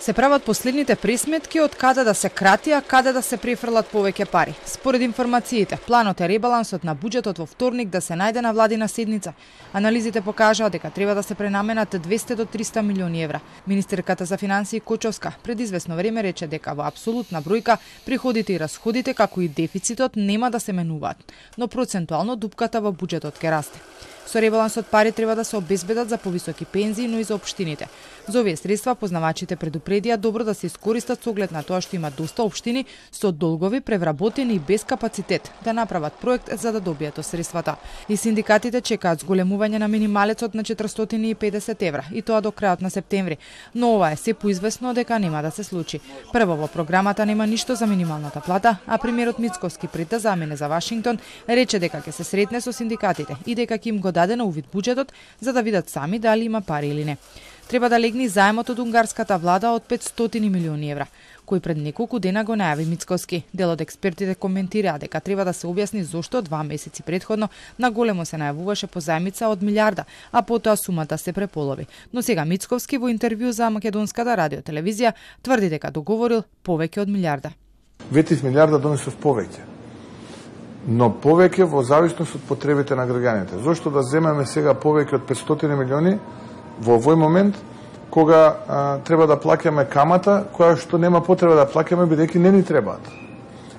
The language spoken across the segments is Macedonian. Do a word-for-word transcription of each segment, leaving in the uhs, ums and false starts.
Се прават последните пресметки од каде да се крати, а каде да се префрлат повеќе пари. Според информациите, планот е ребалансот на буџетот во вторник да се најде на владина седница. Анализите покажаат дека треба да се пренаменат двесте до триста милиони евра. Министерката за финансии Кочовска пред известно време рече дека во апсолутна бројка приходите и расходите, како и дефицитот, нема да се менуваат, но процентуално дупката во буџетот ќе расте. Со ребалансот пари треба да се обезбедат за повисоки пензии, но и за општините. За овие средства познавачите предупредија добро да се искористат со оглед на тоа што има доста општини со долгови, превработени и без капацитет да направат проект за да добијат средствата. И синдикатите чекаат зголемување на минималецот на четиристотини и педесет евра, и тоа до крајот на септември. Но ова е се поизвестно дека нема да се случи. Прво, во програмата нема ништо за минималната плата, а премиерот Мицковски пред да замине за Вашингтон рече дека ќе се сретне со синдикатите и дека ќе им го даде на увид буџетот за да видат сами дали има пари или не. Треба да легне заемот од унгарската влада од петстотини милиони евра, кој пред неколку дена го најави Мицковски. Дел од експертите коментираа дека треба да се објасни зошто два месеци претходно на големо се најавуваше позаемица од милиарда, а потоа сумата се преполови. Но сега Мицковски во интервју за македонската радиотелевизија тврди дека договорил повеќе од милиарда. Ветив милиарда донесов повеќе, но повеќе во зависност од потребите на граѓаните. Зошто да земеме сега повеќе од петстотини милиони во овој момент, кога а, треба да плаќаме камата, која што нема потреба да плаќаме, бидејќи не ни требаат.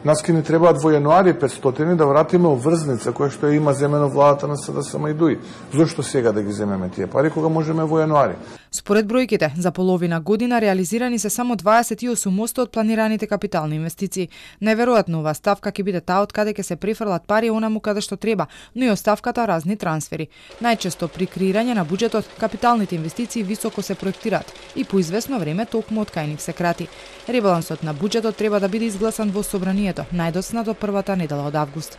Нас ки ни требаат во јануари петстотини да вратиме обврзница, која што има земено владата на СДСМ и ДУИ. Зошто сега да ги земеме тие пари, кога можеме во јануари? Според бројките, за половина година реализирани се само дваесет и осум одсто од планираните капитални инвестиции. Неверојатно оваа ставка ќе биде таа од каде ќе се префрлат пари онаму каде што треба, но и оставката разни трансфери. Најчесто при креирање на буџетот, капиталните инвестиции високо се проектираат и по известно време токму од кај нив се крати. Ребалансот на буџетот треба да биде изгласан во собранието најдоцна до првата недела од август.